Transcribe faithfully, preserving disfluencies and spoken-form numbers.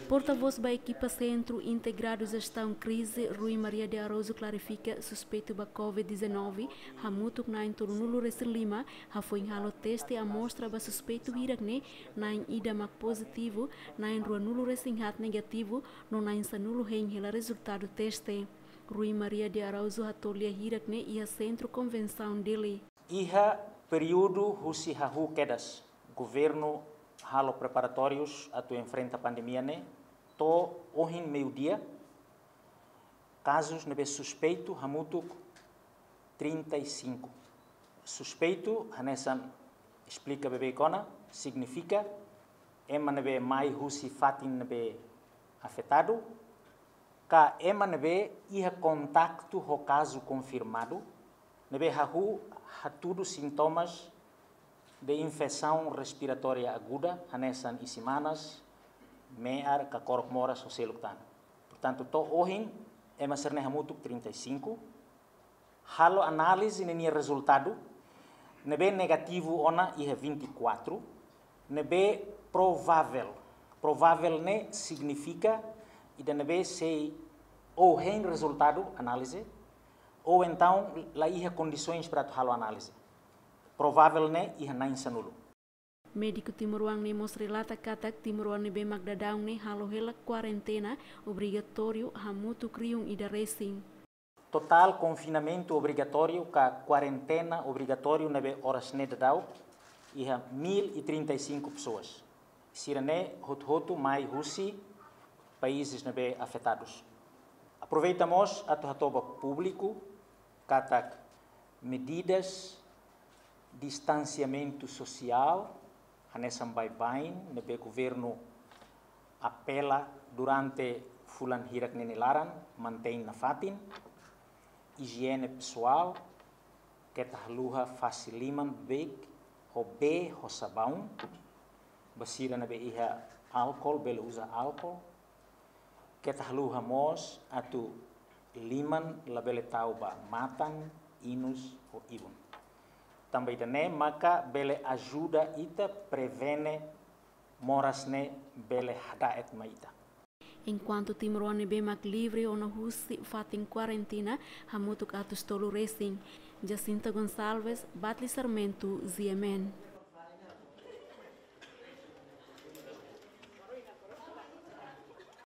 Portavós ba ekipa Sentru Integradu Jestaun Krize, Rui Maria de Araújo, klarifika suspeitu ba covid dezanove hamutuk na'in tolunulu-resin-lima hafoin halo teste amostra ba suspeitu hirak-ne'e, na'in ida mak pozitivu, na'in ruanulu-resin-haat negativu, no na'in sanulu hein hela rezultadu teste. Rui Maria de Araújo hato'o lia hirak-ne'e iha Sentru Konvensaun Dili. Iha períodu husi hahú kedas, governu halo preparatórius atu enfrenta pandemia ne'e, to'o ohin meiudia, kazus ne'ebé suspeitu hamutuk trinta e cinco. Suspeitu, hanesan esplika beibeik ona, signifika ema ne'ebé mai husi fatin ne'ebé afetadu, ka ema ne'ebé iha kontaktu ho kazu konfirmadu, ne'ebé hahú hatudu sintomas de infesaun respiratória aguda, hanesan isin-manas, me'ar ka korok moras ho seluk tan. Portantu, to'o ohin, ema sira-ne'e hamutuk trinta e cinco. Halo análize ninia rezultadu, ne'ebé negativu ona iha vinte e quatro, ne'ebé provável. Provável ne'e signifika ida ne'ebé sei ou hein rezultadu análize, ou entaun la iha kondisoens para atu halo análize. Provável ne'e iha na'in sanulu. Médiku timoroan ne'e mós relata katak timoroan ne'ebé mak daudaun ne'e halo hela kuarentena obrigatóriu hamutuk rihun ida resin. Totál konfinamentu obrigatóriu ka kuarentena obrigatóriu ne'ebé oras ne'e daudaun iha mil e trinta e cinco pessoas. Sira-ne'e hotu-hotu mai husi países ne'ebé afetadus. Aproveita mós atu hato'o ba públiku katak medidas distansiamentu sosiál, hanesan baibain ne'ebé governu apela durante fulan hirak ne'e nia laran, mantein nafatin, ijiene pesoál, keta haluha fase liman beibeik ho bee ho sabaun, ba sira ne'ebé iha álkol, bele uza álkol, keta haluha mós atu liman labele tau ba matan, inus ho ibun. Tanba ida-ne'e maka bele ajuda ita prevene moras ne'e bele hada'et mai ita. Enkuantu timoroan ne'ebé mak livre ona husi fatin kuarentena hamutuk atus tolu resin. Jacinta Gonçalves, Batli Sarmento, G M N.